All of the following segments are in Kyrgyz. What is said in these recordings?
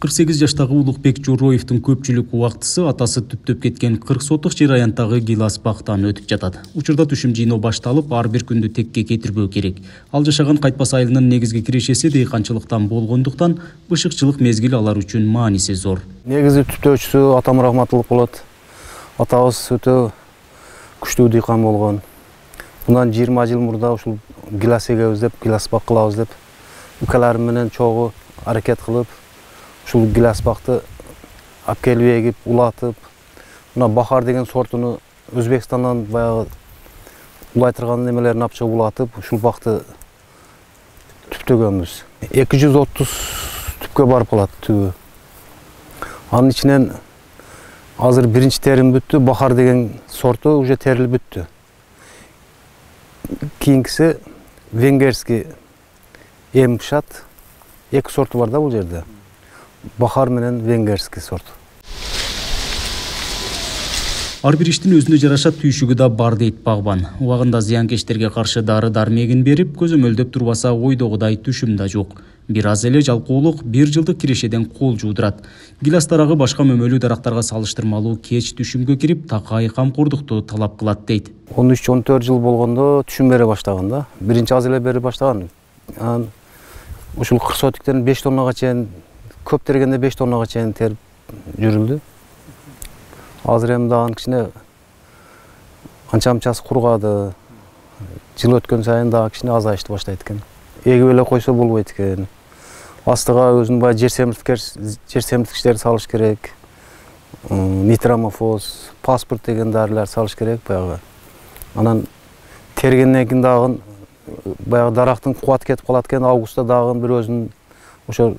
48 жаштагы Улукбек Жороевдун көпчүлүк убактысы атасы түптөп кеткен 40 соттук жер аянттагы гилас бактан өтүп жатат. Учурда түшүм жыйноо башталып, ар бир күндү текке кетирбөө керек. Ал жашаган Кайтпас айылынын негизги кирешеси дыйканчылыктан болгондуктан бышыкчылык мезгили алар үчүн мааниси зор. Негизи түптөөчүсү атам рахматтуулук болот. Атабыз өтө күчтүү дыйкан болгон. Bundan 20 жыл мурда ушул гилас эгебиз деп, гилас бак кылабыз деп, укаларым менен чогуу аракет кылып, ушул гилас бакты алып келип эгип, улатып, мына бахар деген сортуну Өзбекстандан баягы улай турган немелерин алып чыгып улатып, ушул бакты түптөгөнбүз. 230 түпкө барып калат түбү. Анын ичинен азыр биринчи терим бүттү, бахар деген сорту уже терилип бүттү. Кийинкиси венгерский эм пышат. Эки сорту бар да бул жерде. Бахар менен венгерский сорт. Ар бир иштин өзүнө жараша түйшүгү да бар дейт багбан. Убагында зыянкечтерге каршы дары-дармегин берип, көзөмөлдөп турбаса ойдогудай түшүм да жок. Бир аз эле жалкоолук 1 жылдык кирешеден кол жуудурат. Гилас дарагы башка мөмөлүү дарактарга салыштырмалуу кеч түшүмгө кирип, такай камкордукту талап кылат дейт. 13-14 жыл болгондо түшүм бере баштаган да. Биринчи аз эле бере баштаган. Ушул кырсотиктен 5 тоннага чейин, көп тергенде 5 тоннага чейин терип жүрүлдү. Азыр эми дагы кичине анча-мынчасы кургады. Жыл өткөн сайын дагы кичине азайышты баштайт экен. Эгип эле койсо болбойт экен. Астыга өзүнүн бай жер семирткичтерди салыш керек. Нитромофос, паспорт деген дарылар салыш керек баягы. Анан тергенден кийин дагы баягы дарактын кубаты кетип калат экен, августта дагы бир өзүнүн ошо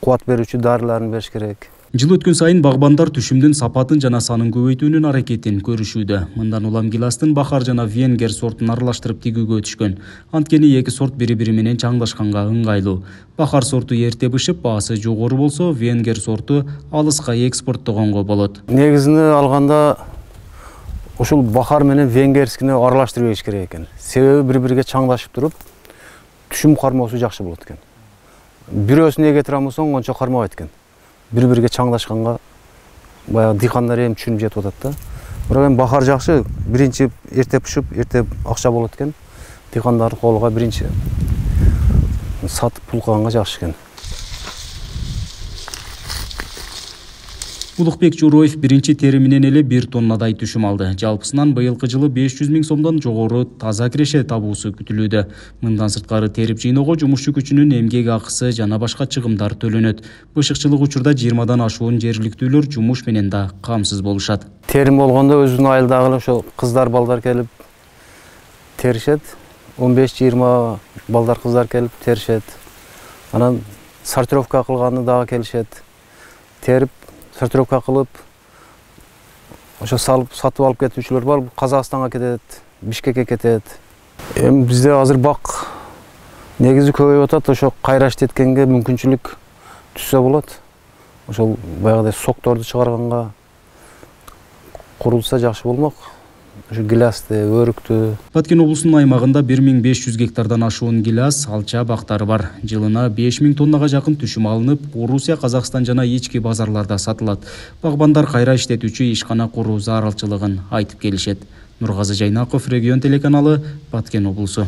кубат берүүчү дарыларын бериш керек. Жыл өткөн сайын багбандар түшүмдүн сапатын жана санын көбөйтүүнүн аракетин көрүшүүдө. Мындан улам гиластын бахар жана венгер сортун аралаштырып тигүүгө өтүшкөн. Анткени эки сорт бири-бири менен чаңдашканга ыңгайлуу. Бахар сорту эрте бышып, баасы жогору болсо, венгер сорту алыска экспорттогонго болот. Негизине алганда ушул бахар менен венгерскини аралаштырып эгиш керек экен. Себеби бири-бириге чаңдашып туруп, түшүм кармоосу жакшы болот экен. Бирөөсүн эге турамысың, ончо кармабайт экен. Бири-бириге чаңдашканга баягы дыйкандар эми түшүнүп жетип атат да. Бирок эми бахар жакшы, биринчи эрте пышып, эрте акча болот экен. Дыйкандардын колуга биринчи сатып пул кылганга жакшы экен. Улукбек Жороев биринчи териминен эле 1 тоннадай түшүм алды. Жалпысынан быйылкы жылы 500 000 сомдон жогору таза киреше табуусу күтүлүүдө. Мындан сырткары терип жыйноого жумушчу күчүнүн эмгек акысы жана башка чыгымдар төлөнөт. Бышыкчылык учурда 20дан ашуун жергиликтүүлөр жумуш менен да камсыз болушат. Терим болгондо өзүнүн айылдагы ошо кыздар, балдар келип теришет. 15-20 балдар, кыздар келип теришет. Анан сортировка кылганы дагы келишет. Терип сортировка кылып, ошо салып, сатып алып кетүүчүлөр бар. Казакстанга кетет, Бишкекке кетет. Эми бизде азыр бак негизи көбөйүп атат. Ошо кайра иштеткенге мүмкүнчүлүк түшсө болот. Ошол баягыдай сокторду чыгарганга курулса жакшы болмок. Ошо гиласты, өрүктү. Баткен облусунун аймагында 1500 гектардан ашуун гилас, алча бактары бар. Жылына 5000 тоннага жакын түшүм алынып, Орусия, Казакстан жана ички базарларда сатылат. Багбандар кайра иштетүүчү ишкана куруу зарылчылыгын айтып келишет. Нургазы Жайнаков, Регион телеканалы, Баткен облусу.